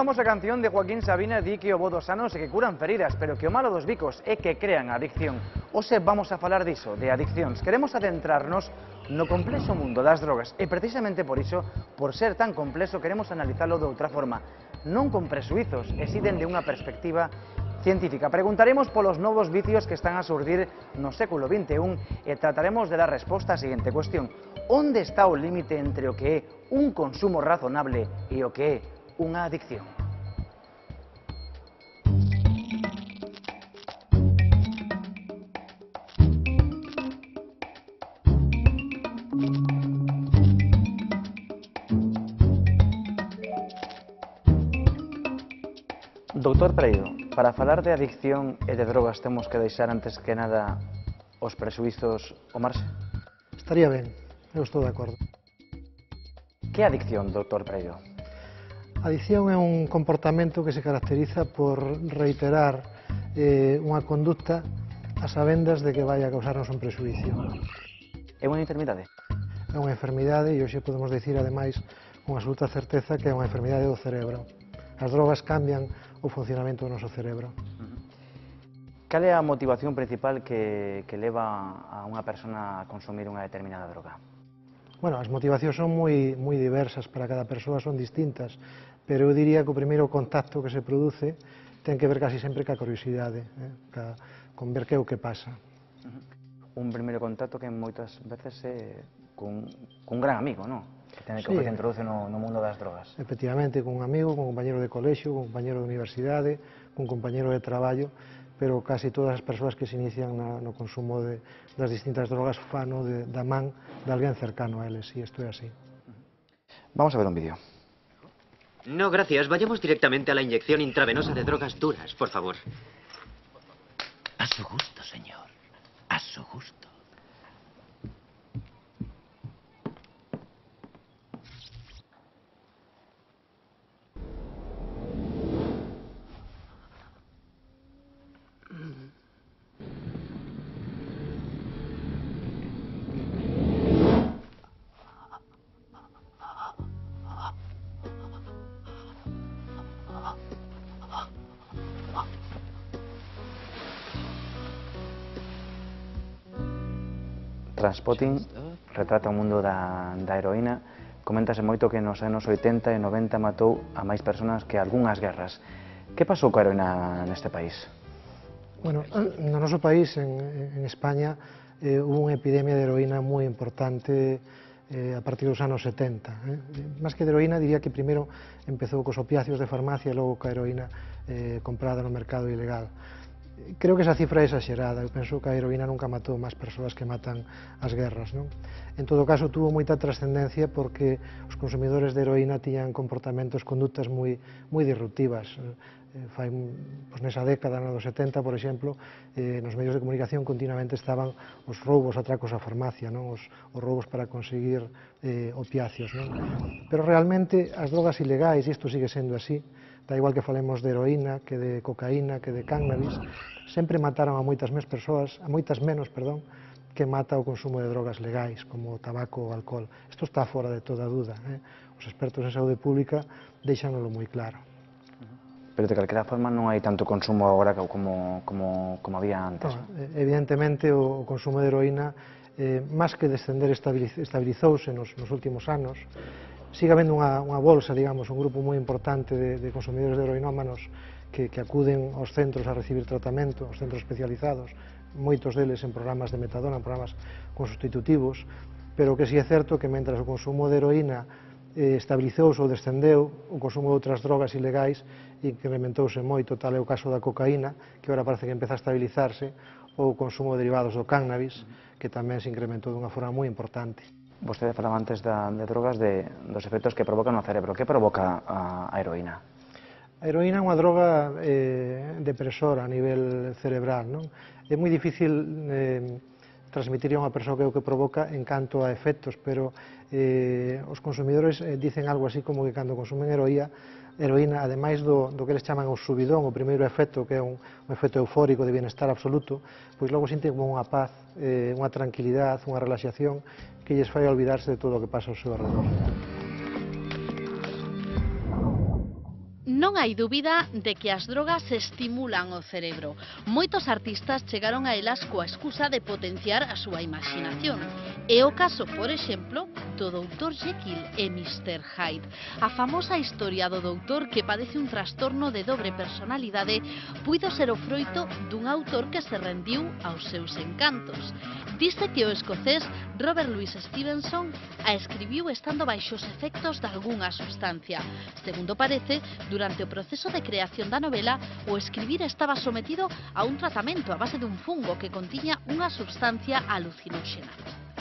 famosa canción de Joaquín Sabina di que o bo dos sanos é que curan feridas, pero que o malo dos bicos é que crean adicción. Hoxe vamos a falar diso, de adiccións. Queremos adentrarnos no complexo mundo das drogas e precisamente por iso, por ser tan complexo, queremos analizalo de outra forma, non con presuizos, e si dende unha perspectiva científica. Preguntaremos polos novos vicios que están a surdir no século XXI e trataremos de dar resposta á seguinte cuestión: onde está o límite entre o que é un consumo razonable e o que é unha adicción? Doutor Pereiro, para falar de adicción e de drogas temos que deixar antes que nada os presuizos ao marxe? Estaría ben, eu estou de acordo. Que é adicción, doutor Pereiro? A adicción é un comportamento que se caracteriza por reiterar unha conducta a sabendas de que vai a causarnos un presuicio. É unha enfermidade? É unha enfermidade e hoxe podemos dicir, ademais, con absoluta certeza que é unha enfermidade do cerebro. As drogas cambian o funcionamento do noso cerebro. Cal é a motivación principal que leva a unha persona a consumir unha determinada droga? Bueno, as motivacións son moi diversas para cada persoa, son distintas, pero eu diría que o primeiro contacto que se produce ten que ver casi sempre ca curiosidade, con ver que é o que pasa. Un primeiro contacto que moitas veces é cun gran amigo, non? Que ten que te introduce no mundo das drogas. Efectivamente, con un amigo, con un compañero de colexio, con un compañero de universidade, con un compañero de traballo, pero casi todas as persoas que se inician no consumo das distintas drogas fano da man de alguén cercano a eles, e isto é así. Vamos a ver un vídeo. No, gracias. Vayamos directamente a la inyección intravenosa de drogas duras, por favor. A su gusto, señor. A su gusto. Transpotting retrata o mundo da heroína. Coméntase moito que nos anos 80 e 90 matou a máis persoas que algunhas guerras. Que pasou coa heroína neste país? Bueno, no noso país, en España, hubo unha epidemia de heroína moi importante a partir dos anos 70. Más que de heroína, diría que primeiro empezou cos opiáceos de farmacia e logo coa heroína comprada no mercado ilegal. Creo que esa cifra é exagerada. Eu penso que a heroína nunca matou máis persoas que matan as guerras, non? En todo caso, tuvo moita trascendencia porque os consumidores de heroína tiñan comportamentos, conductas moi disruptivas. Nesa década, na dos 70, por exemplo, nos medios de comunicación continuamente estaban os roubos, atracos á farmacia, non? Os roubos para conseguir opiáceos, non? Pero realmente as drogas ilegais, e isto sigue sendo así, da igual que falemos de heroína, que de cocaína, que de cannabis, sempre mataron a moitas menos persoas, que mata o consumo de drogas legais, como o tabaco ou o alcohol. Isto está fora de toda dúda. Os expertos en saúde pública deixánoslo moi claro. Pero de calquera forma non hai tanto consumo agora como había antes. Evidentemente, o consumo de heroína, máis que descender, estabilizouse nos últimos anos. Sigue habendo unha bolsa, digamos, un grupo moi importante de consumidores de heroinómanos que acuden aos centros a recibir tratamento, aos centros especializados, moitos deles en programas de metadona, en programas con sustitutivos, pero que si é certo que mentras o consumo de heroína estabilizouse ou descendeu, o consumo de outras drogas ilegais incrementouse moito, tal é o caso da cocaína, que agora parece que empeza a estabilizarse, ou o consumo de derivados do cannabis, que tamén se incrementou dunha forma moi importante. Vostede falaba antes de drogas, dos efectos que provocan no cerebro. Que provoca a heroína? A heroína é unha droga depresora a nivel cerebral, non? É moi difícil transmitir a unha persoa que é o que provoca en canto a efectos, pero os consumidores dicen algo así como que cando consumen heroína, ademais do que eles chaman o subidón, o primeiro efecto, que é un efecto eufórico de bienestar absoluto, pois logo sinten como unha paz, unha tranquilidade, unha relaxación que lles fai olvidarse de todo o que pasa ao seu alrededor. Non hai dúbida de que as drogas estimulan o cerebro. Moitos artistas chegaron a elas coa excusa de potenciar a súa imaginación. É o caso, por exemplo, do Dr. Jekyll e Mr. Hyde. A famosa historia do doutor que padece un trastorno de dobre personalidade puido ser o froito dun autor que se rendiu aos seus encantos. Dice que o escocés Robert Louis Stevenson a escribiu estando baixo os efectos de algunha sustancia. Segundo parece, durante o proceso de creación da novela, o escribir estaba sometido a un tratamento a base dun fungo que contiña unha substancia alucinóxena.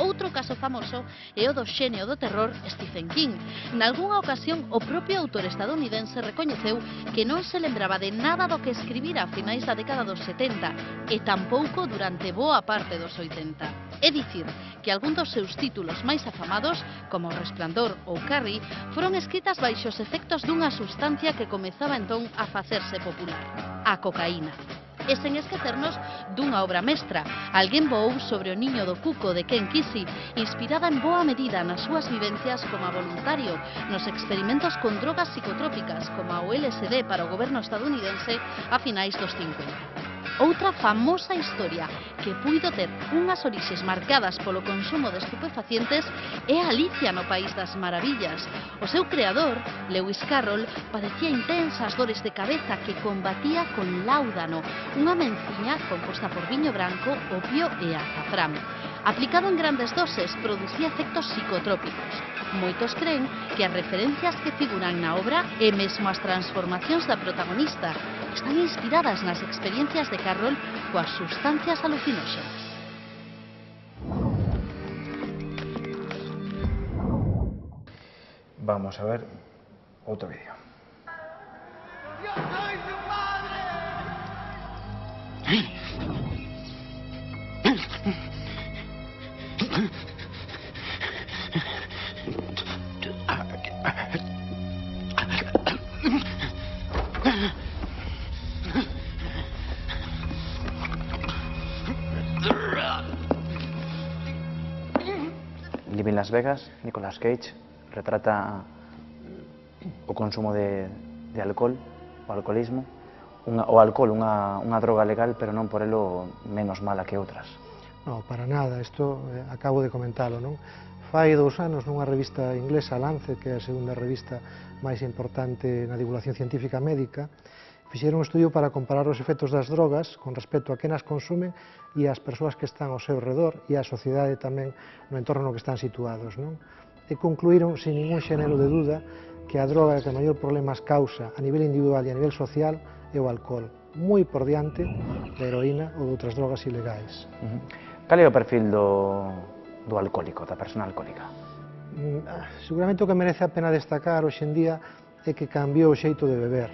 Outro caso famoso é o do xenio do terror Stephen King. Nalgúnha ocasión, o propio autor estadounidense recoñeceu que non se lembraba de nada do que escribira a finais da década dos 70 e tampouco durante boa parte dos 80. É dicir, que algún dos seus títulos máis afamados, como O Resplandor ou Carrie, foron escritas baixo os efectos dunha sustancia que comezaba entón a facerse popular, a cocaína. E sen esquecernos dunha obra mestra, Alguén voou sobre o niño do cuco de Ken Kesey, inspirada en boa medida nas súas vivencias como voluntario nos experimentos con drogas psicotrópicas como o LSD para o goberno estadounidense a finais dos 50. Outra famosa historia que puido ter unhas orixes marcadas polo consumo de estupefacientes é Alicia no País das Maravillas. O seu creador, Lewis Carroll, padecía intensas dores de cabeza que combatía con láudano, unha menciña composta por viño branco, opio e azafrán. Aplicado en grandes doses, producía efectos psicotrópicos. Moitos creen que as referencias que figuran na obra e mesmo as transformacións da protagonista están inspiradas nas experiencias de Carroll coas sustancias alucinóxenas. Vamos a ver outro vídeo. ¡Yo soy tu padre! Living Las Vegas, Nicolas Cage retrata o consumo de alcohol, o alcoholismo. O alcohol, unha droga legal, pero non por elo menos mala que outras. Non, para nada, isto acabo de comentalo, non? Fai 2 anos nunha revista inglesa, Lancet, que é a segunda revista máis importante na divulgación científica médica, fixeron un estudio para comparar os efectos das drogas con respecto a quen as consumen e as persoas que están ao seu redor e a sociedade tamén no entorno no que están situados, non? E concluíron, sin ningún xénero de duda, que a droga que maior problemas causa a nivel individual e a nivel social é o alcohol, moi por diante da heroína ou de outras drogas ilegais. Cal é o perfil do alcohólico, da persona alcohólica? Seguramente o que merece a pena destacar hoxe en día é que cambiou o xeito de beber.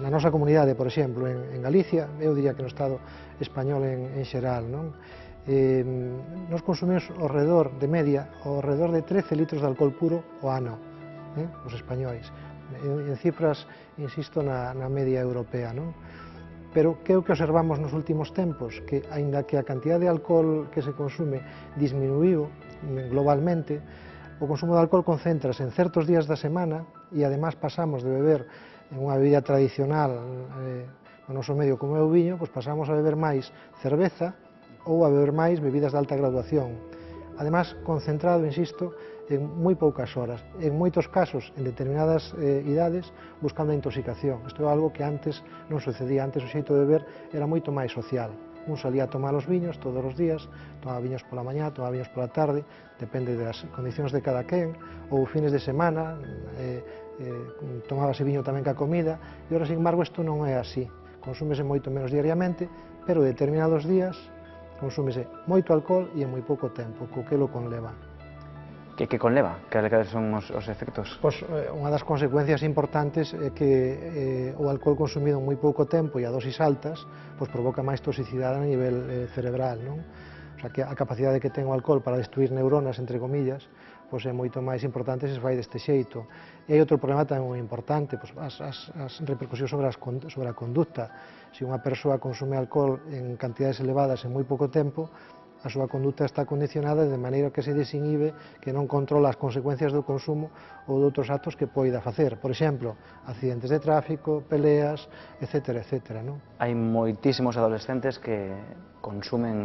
Na nosa comunidade, por exemplo, en Galicia, eu diría que no Estado español en xeral, nos consumimos ao redor de media, ao redor de 13 litros de alcohol puro ao ano, os españois. En cifras, insisto, na media europea, Pero que é o que observamos nos últimos tempos? Que, aínda que a cantidad de alcohol que se consume disminuiu globalmente, o consumo de alcohol concéntrase en certos días da semana e, además, pasamos de beber unha bebida tradicional no noso medio como é o viño, pois pasamos a beber máis cerveza ou a beber máis bebidas de alta graduación. Además, concentrado, insisto, en moi poucas horas, en moitos casos, en determinadas idades, buscando a intoxicación. Isto é algo que antes non sucedía. Antes o xeito de beber era moito máis social. Un salía a tomar os viños todos os días, tomaba viños pola mañá, tomaba viños pola tarde, depende das condicións de cada quen, ou fines de semana, tomábase viño tamén ca comida, e ora, sin embargo, isto non é así. Consúmese moito menos diariamente, pero determinados días consúmese moito alcohol e en moi pouco tempo, co que lo conleva. Que conleva? Cales son os efectos? Pois unha das consecuencias importantes é que o alcohol consumido en moi pouco tempo e a dosis altas pois provoca máis toxicidade a nivel cerebral, non? O sea, que a capacidade que ten o alcohol para destruir neuronas, entre comillas, pois é moito máis importante se fai deste xeito. E hai outro problema tamén moi importante, pois as repercusións sobre a conducta. Se unha persoa consume alcohol en cantidades elevadas en moi pouco tempo, a súa conduta está condicionada de maneira que se desinhibe, que non controla as consecuencias do consumo ou de outros actos que poida facer. Por exemplo, accidentes de tráfico, peleas, etc. etc. Non? Hai moitísimos adolescentes que consumen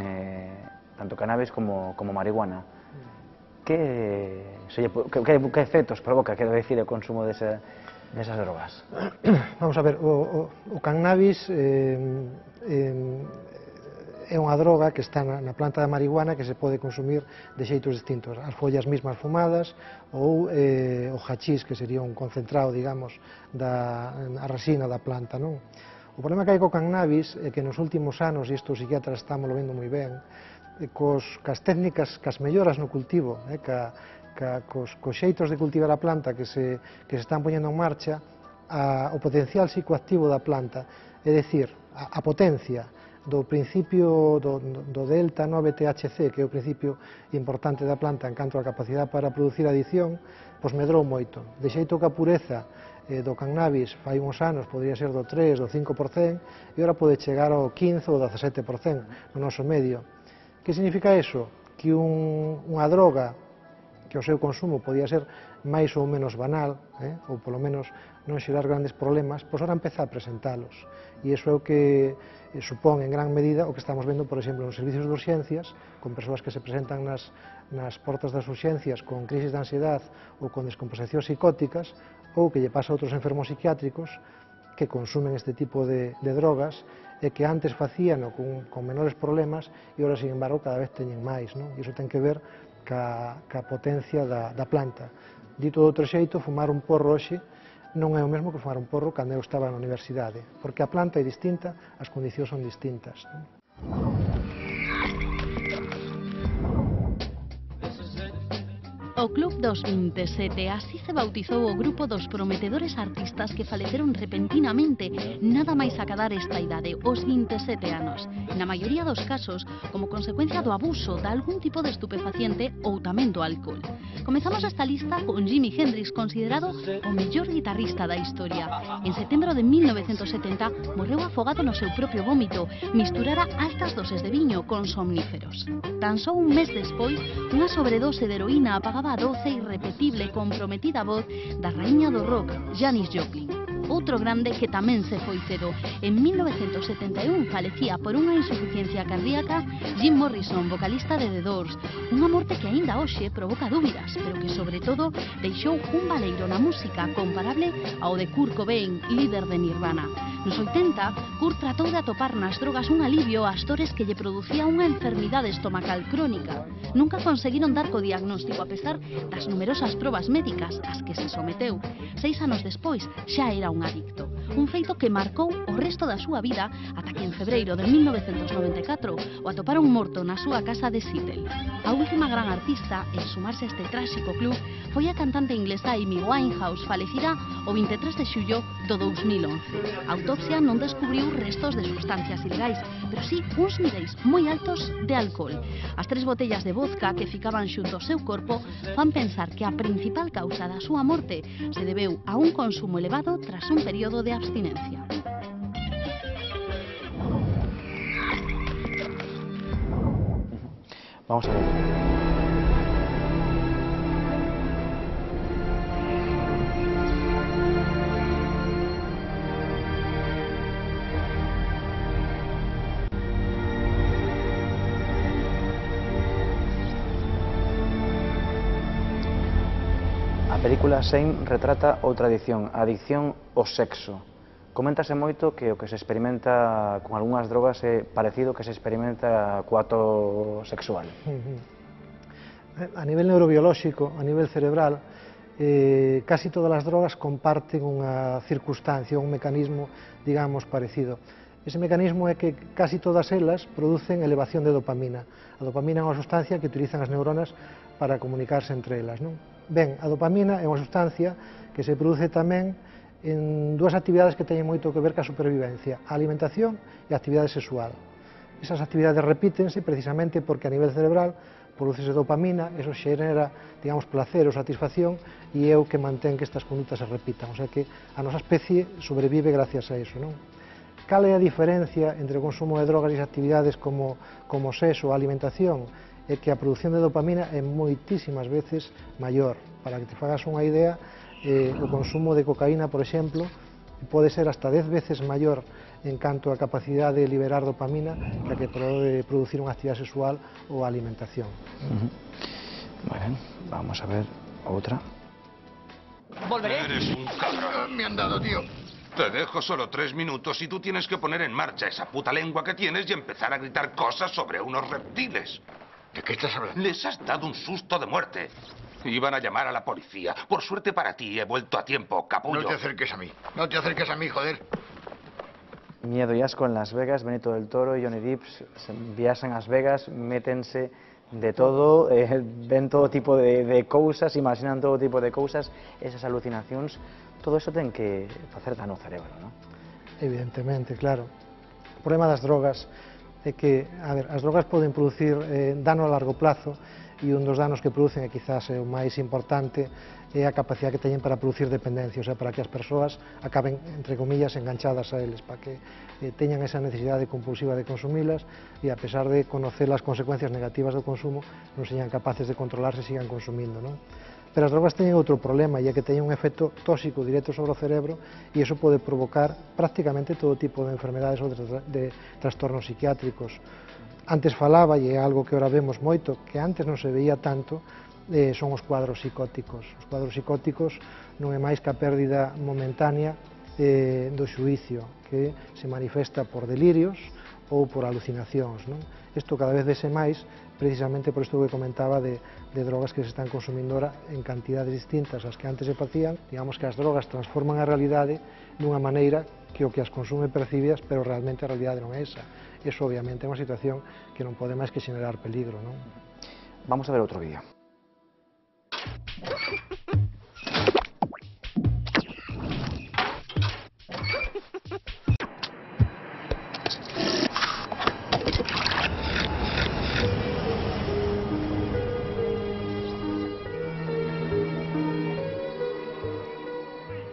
tanto cannabis como marihuana. Que efectos provoca, quero dicir, o consumo desas drogas? Vamos a ver, o cannabis é unha droga que está na planta da marihuana que se pode consumir de xeitos distintos, as follas mismas fumadas ou o hachís, que sería un concentrado, digamos, a resina da planta, non? O problema que hai co cannabis é que nos últimos anos, e isto os psiquiatras estamos vendo moi ben, cas técnicas, cas melloras no cultivo, cos xeitos de cultivar a planta que se están poñendo en marcha, o potencial psicoactivo da planta, é dicir, a potencia do principio do delta 9-THC, que é o principio importante da planta en canto a capacidade para producir adicción, pois medrou moito. De xeito que a pureza do cannabis fai uns anos podría ser do 3, do 5%, e ora pode chegar ao 15 ou 17% no noso medio. Que significa iso? Que unha droga que o seu consumo podía ser máis ou menos banal, ou polo menos non xerar grandes problemas, pois ora empeza a presentalos. E iso é o que supón en gran medida o que estamos vendo, por exemplo, nos servicios de urxencias, con persoas que se presentan nas portas das urxencias con crisis de ansiedade ou con descomposicións psicóticas, ou que lle pasa a outros enfermos psiquiátricos que consumen este tipo de drogas e que antes facían con menores problemas e ora, sin embargo, cada vez teñen máis, non? E iso ten que ver ca potencia da planta. Dito de outro xeito, fumar un porro hoxe non é o mesmo que fumar un porro cando eu estaba na universidade, porque a planta é distinta, as condicións son distintas. O Club dos 27, así se bautizou o grupo dos prometedores artistas que faleceron repentinamente, nada máis acadar esta idade, os 27 anos. Na maioría dos casos, como consecuencia do abuso de algún tipo de estupefaciente ou tamén do alcohol. Comezamos esta lista con Jimi Hendrix, considerado o mellor guitarrista da historia. En setembro de 1970 morreu afogado no seu propio vómito, misturara altas doses de viño con somníferos. Tan só un mes despois, unha sobredose de heroína apagaba a doce, irrepetible e comprometida voz da raíña do rock, Janis Joplin. Outro grande que tamén se foi cedo. En 1971 falecía por unha insuficiencia cardíaca Jim Morrison, vocalista de The Doors. Unha morte que aínda hoxe provoca dúbidas, pero que sobre todo deixou un baleiro na música comparable ao de Kurt Cobain, líder de Nirvana. Nos 80, Kurt tratou de atopar nas drogas un alivio ás dores que lle producía unha enfermidade estomacal crónica. Nunca conseguiron dar co diagnóstico a pesar das numerosas probas médicas ás que se someteu. 6 anos despois xa era un adicto. Un feito que marcou o resto da súa vida ata que en febreiro de 1994 o atoparon morto na súa casa de Seattle. A última gran artista en sumarse a este tráxico club foi a cantante inglesa Amy Winehouse, falecida o 23 de xullo do 2011. A autopsia non descubriu restos de sustancias ilegais, pero sí uns niveis moi altos de alcohol. As 3 botellas de vodka que ficaban xunto ao seu corpo fan pensar que a principal causa da súa morte se debeu a un consumo elevado tras un período de abstinencia. Vamos a ver. A película Shame retrata outra adicción, a adicción ao sexo. Coméntase moito que o que se experimenta con algunhas drogas é parecido que se experimenta co acto sexual. A nivel neurobiolóxico, a nivel cerebral, casi todas as drogas comparten unha circunstancia, un mecanismo, digamos, parecido. Ese mecanismo é que casi todas elas producen elevación de dopamina. A dopamina é unha sustancia que utilizan as neuronas para comunicarse entre elas, non? Ben, a dopamina é unha sustancia que se produce tamén en dúas actividades que teñen moito que ver ca supervivencia, a alimentación e a actividade sexual. Esas actividades repítense precisamente porque a nivel cerebral producese dopamina, eso xenera, digamos, placer ou satisfacción e é o que mantén que estas condutas se repitan. O sea que a nosa especie sobrevive gracias a eso, non? cal é a diferencia entre o consumo de drogas e as actividades como o sexo ou a alimentación? É que a produción de dopamina é moitísimas veces maior. Para que te fagas unha idea, o consumo de cocaína, por exemplo, pode ser hasta 10 veces maior en canto a capacidade de liberar dopamina que a que pode producir unha actividade sexual ou a alimentación. Muy bien, vamos a ver otra. Eres un cabrón. Me han dado, tío. Te dejo solo 3 minutos y tú tienes que poner en marcha esa puta lengua que tienes y empezar a gritar cosas sobre unos reptiles. ¿De qué estás hablando? Les has dado un susto de muerte. Iban a llamar a la policía. Por suerte para ti, he vuelto a tiempo, capullo. No te acerques a mí. No te acerques a mí, joder. Miedo y asco en Las Vegas, Benito del Toro y Johnny Depp se viaxan a Las Vegas, métense de todo, ven todo tipo de cousas, imaginan todo tipo de cousas, esas alucinacións, todo eso ten que facer dano ao cerebro, non? Evidentemente, claro. O problema das drogas é que, a ver, as drogas poden producir dano a largo plazo e un dos danos que producen, e quizás é o máis importante, é a capacidade que teñen para producir dependencia, o sea, para que as persoas acaben, entre comillas, enganchadas a eles, para que teñan esa necesidade compulsiva de consumilas e, a pesar de conocer as consecuencias negativas do consumo, non señan capaces de controlarse e sigan consumindo, non? Pero as drogas teñen outro problema, e é que teñen un efecto tóxico directo sobre o cerebro e iso pode provocar prácticamente todo tipo de enfermedades ou de trastornos psiquiátricos. Antes falaba, e é algo que ahora vemos moito, que antes non se veía tanto, son os cuadros psicóticos. Os cuadros psicóticos non é máis que a pérdida momentánea do xuízo, que se manifesta por delirios ou por alucinacións, non? Isto cada vez vese máis, precisamente por isto que comentaba de drogas que se están consumindo ahora en cantidades distintas ás que antes se facían. Digamos que as drogas transforman a realidade dunha maneira que o que as consume percibidas, pero realmente a realidade non é esa. Eso obviamente é unha situación que non pode máis que xenerar peligro, non? Vamos a ver outro vídeo.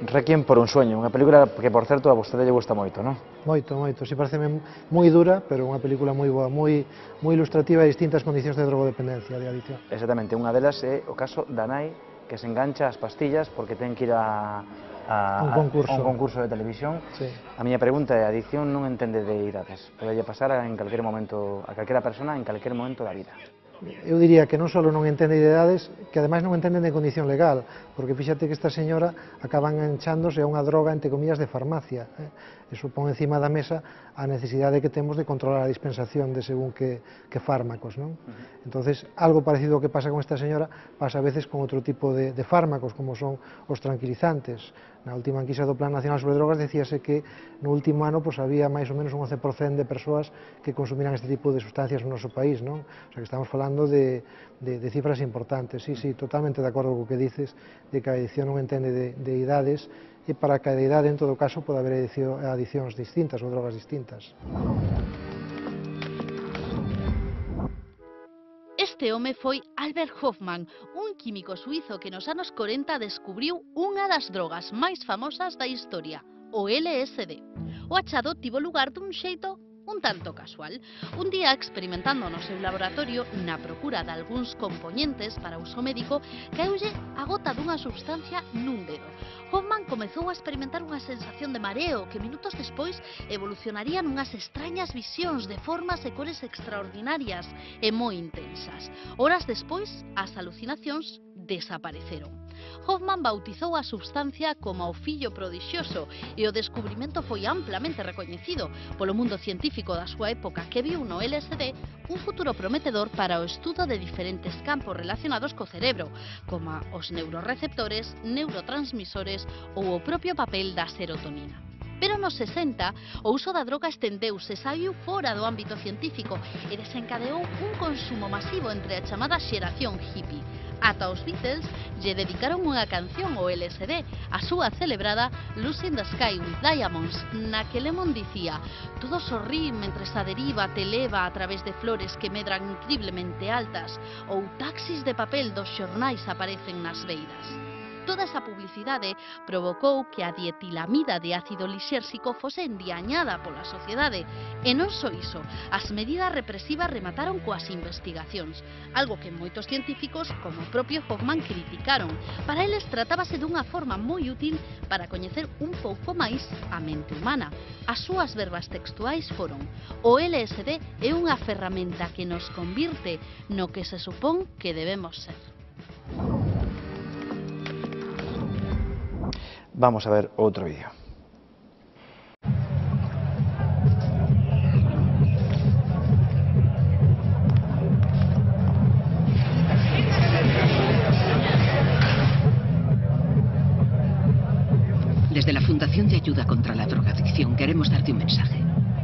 Requiem por un sueño, unha película que, por certo, a vostede lle gusta moito, non? Moito, moito. Si parece moi dura, pero unha película moi boa, moi ilustrativa de distintas condicións de drogodependencia, de adicción. Exactamente, unha delas é o caso da nai que se engancha ás pastillas porque ten que ir a un concurso de televisión. Sí. A miña pregunta é, a adicción non entende de idades, pode pasar en calquera momento, a calquera persona en calquer momento da vida. Eu diría que non só non entende de idades, que ademais non entenden de condición legal, porque fíxate que esta señora acaba enganchándose a unha droga, entre comillas, de farmacia. Eso pon encima da mesa a necesidade que temos de controlar a dispensación de según que fármacos, non? Entonces, algo parecido ao que pasa con esta señora pasa a veces con outro tipo de fármacos, como son os tranquilizantes. Na última enquisa do Plan Nacional sobre Drogas decíase que no último ano había máis ou menos un 11% de persoas que consumiran este tipo de sustancias no noso país, non? O sea, que estamos falando de cifras importantes. Sí, totalmente de acordo co que dices, de que a adicción non entende de idades, e para cada idade, en todo caso, pode haber adiccións distintas ou drogas distintas. Este home foi Albert Hofmann, un químico suizo que nos anos 40 descubriu unha das drogas máis famosas da historia, o LSD. O achado tivo lugar dun xeito un tanto casual. Un día, experimentando no seu laboratorio na procura de algúns componentes para uso médico, caeulle a gota dunha substancia nun dedo. Hofmann comezou a experimentar unha sensación de mareo que minutos despois evolucionaría nunhas extrañas visións de formas e cores extraordinarias e moi intensas. Horas despois, as alucinacións desapareceron. Hofmann bautizou a substancia como o fillo prodixioso e o descubrimento foi amplamente recoñecido polo mundo científico da súa época, que viu no LSD un futuro prometedor para o estudo de diferentes campos relacionados co cerebro, como os neuroreceptores, neurotransmisores ou o propio papel da serotonina. Pero nos 60, o uso da droga estendeuse e saiu fora do ámbito científico e desencadeou un consumo masivo entre a chamada xeración hippie. Ata os Beatles lle dedicaron unha canción ao LSD, a súa celebrada Lucy in the Sky with Diamonds, na que Lemon dicía: todo sorrí mentres a deriva te leva a través de flores que medran increíblemente altas, ou taxis de papel dos xornais aparecen nas beiras. Toda esa publicidade provocou que a dietilamida de ácido lisérxico fose endiañada pola sociedade. E non só iso, as medidas represivas remataron coas investigacións, algo que moitos científicos, como o propio Hoffman, criticaron. Para eles tratábase dunha forma moi útil para coñecer un pouco máis a mente humana. As súas verbas textuais foron: o LSD é unha ferramenta que nos convirte no que se supón que debemos ser. Vamos a ver outro vídeo. Desde la Fundación de Ayuda contra la Drogadicción queremos darte un mensaje.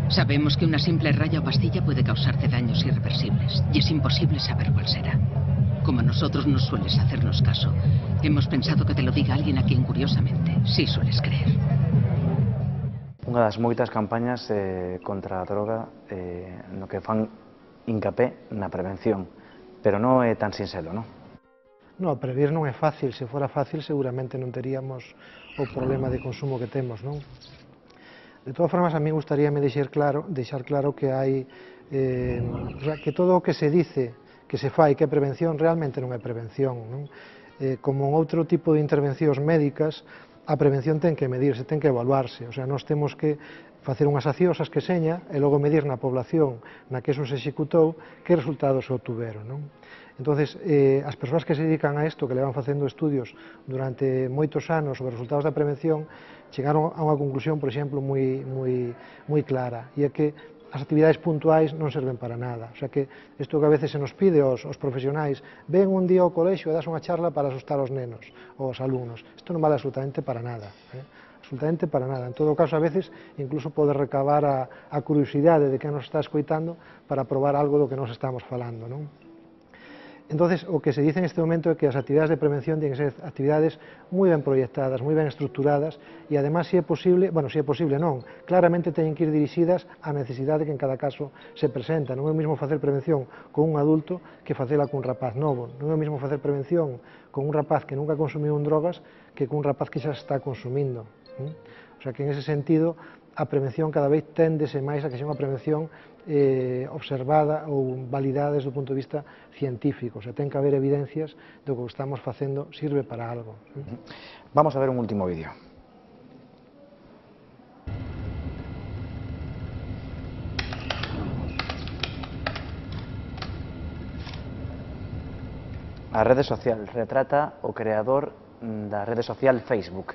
Sabemos que una simple raya o pastilla puede causarte daños irreversibles y es imposible saber cuál será. Como a nosotros no sueles hacernos caso, hemos pensado que te lo diga alguien a quien curiosamente sí sueles creer. Unha das moitas campañas contra a droga no que fan hincapé na prevención, pero non é tan sinxelo, non? No, prever non é fácil. Se fora fácil, seguramente non teríamos o problema de consumo que temos, non? De todas formas, a mí gustaríame deixar claro que hai que todo o que se dice que se fai que é prevención realmente non é prevención, non? Como en outro tipo de intervencións médicas, a prevención ten que medirse, ten que evaluarse, o sea, nós temos que facer unhas accións que seña e logo medir na población na que eso se executou que resultados obtuveron, non? Entonces, as persoas que se dedican a isto, que levan facendo estudios durante moitos anos sobre os resultados da prevención, chegaron a unha conclusión, por exemplo, moi clara, e é que as actividades puntuais non serven para nada. O sea que isto que a veces se nos pide aos profesionais, ven un día ao colexio e das unha charla para asustar aos nenos ou aos alumnos. Isto non vale absolutamente para nada. Absolutamente para nada. En todo caso, a veces, incluso pode recabar a curiosidade de quen nos está escoitando para probar algo do que nos estamos falando, non? Entonces, o que se dice en este momento é que as actividades de prevención tienen que ser actividades moi ben proyectadas, moi ben estructuradas e, además, se é posible, non, claramente teñen que ir dirixidas á necesidade que en cada caso se presenta. Non é o mesmo facer prevención con un adulto que facela con un rapaz novo. Non é o mesmo facer prevención con un rapaz que nunca consumiu drogas que con un rapaz que xa está consumindo. O sea que, en ese sentido, a prevención cada vez téndese máis a que sea unha prevención observada ou validada desde o punto de vista científico. O sea, ten que haber evidencias de que o que estamos facendo sirve para algo. Vamos a ver un último vídeo. A rede social retrata o creador da rede social Facebook.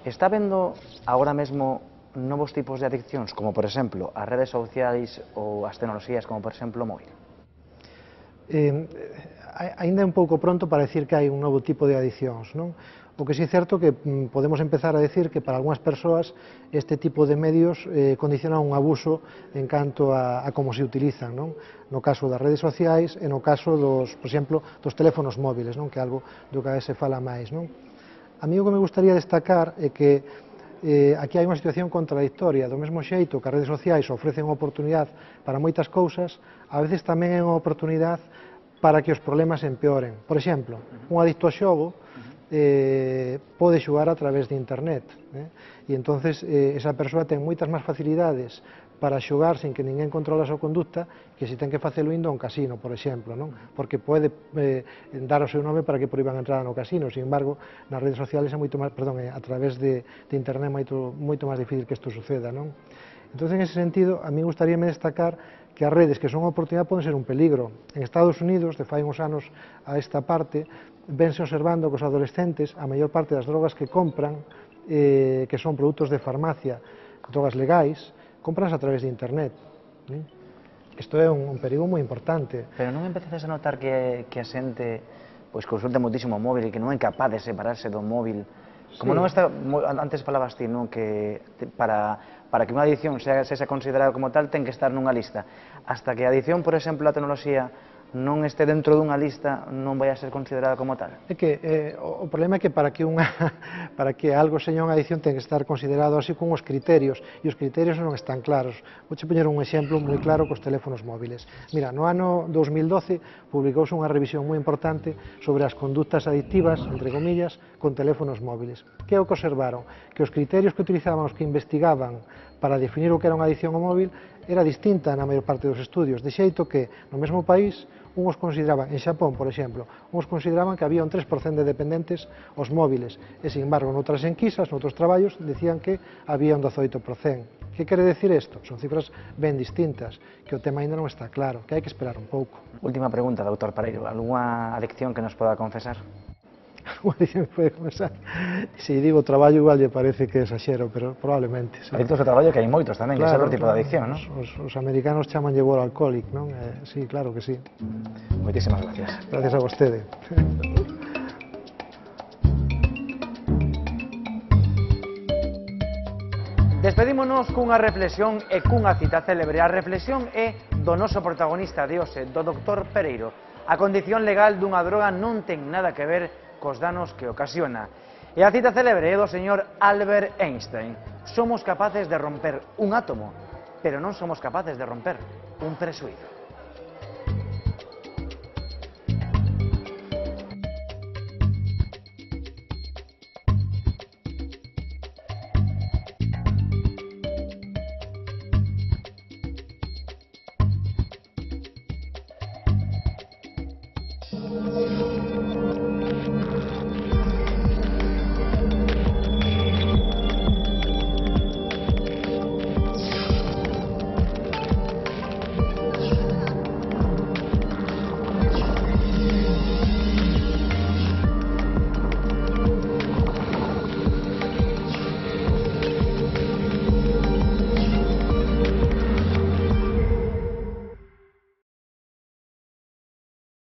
Está vendo agora mesmo novos tipos de adiccións, como por exemplo as redes sociais ou as tecnoloxías, como por exemplo o móvil? Ainda é un pouco pronto para decir que hai un novo tipo de adiccións, non? O que si é certo que podemos empezar a decir que para algunhas persoas este tipo de medios condiciona un abuso en canto a como se utilizan, non? No caso das redes sociais e no caso dos, por exemplo, dos teléfonos móviles, non? Que é algo do que a veces se fala máis, non? A mí o que me gustaría destacar é que aquí hai unha situación contradictoria. Do mesmo xeito que as redes sociais ofrecen unha oportunidade para moitas cousas, a veces tamén é unha oportunidade para que os problemas empeoren. Por exemplo, un adicto ao xogo pode xogar a través de internet, e entonces esa persoa ten moitas máis facilidades para xogar sin que ninguén controla a súa conducta que se ten que facelo indo a un casino, por exemplo, non? Porque pode dar o seu nome para que proíban a entrada no casino. Sin embargo, nas redes sociales é moito máis, a través de internet moito máis difícil que isto suceda, non? Entón, en ese sentido, a mí gustaríame destacar que as redes que son unha oportunidade poden ser un peligro. En Estados Unidos, de fai uns anos a esta parte, vense observando que os adolescentes, a maior parte das drogas que compran, que son produtos de farmacia, drogas legais, compras a través de internet. Isto é un perigo moi importante. Pero non empezases a notar que a xente consulta moitísimo o móvil e que non é capaz de separarse do móvil? Como non está, antes falabas ti, non, que para que unha adicción sexa considerada como tal ten que estar nunha lista. Hasta que a adicción, por exemplo, a tecnoloxía non este dentro dunha lista non vai a ser considerada como tal? É que o problema é que para que algo seña unha adicción ten que estar considerado así con os criterios, e os criterios non están claros. Vou poñer un exemplo moi claro cos teléfonos móviles. Mira, no ano 2012 publicouse unha revisión moi importante sobre as conductas adictivas, entre comillas, con teléfonos móviles. Que é o que observaron? Que os criterios que utilizaban os que investigaban para definir o que era unha adicción ao móvil era distinta na maior parte dos estudios, de xeito que no mesmo país uns consideraban, en Xapón, por exemplo, uns consideraban que había un 3% de dependentes aos móviles, e, sin embargo, noutras enquisas, noutros traballos, decían que había un 18%. Que quere decir isto? Son cifras ben distintas, que o tema ainda non está claro, que hai que esperar un pouco. Última pregunta, doutor Pereiro. Algúa adicción que nos poda confesar? Unha adicción que pode confesar? Se digo traballo, igual lle parece que exagero, pero probablemente. Sí. Adictos ao traballo que hai moitos tamén, que é outro tipo de adicción, non? Os americanos chamanlle workaholic, non? Sí, claro que sí. Moitísimas gracias. Gracias a vostede. Despedímonos cunha reflexión e cunha cita célebre. A reflexión é do noso protagonista de hoxe, do Dr. Pereiro. A condición legal dunha droga non ten nada que ver cos danos que ocasiona. E a cita célebre é do señor Albert Einstein. Somos capaces de romper un átomo, pero non somos capaces de romper un presuízo.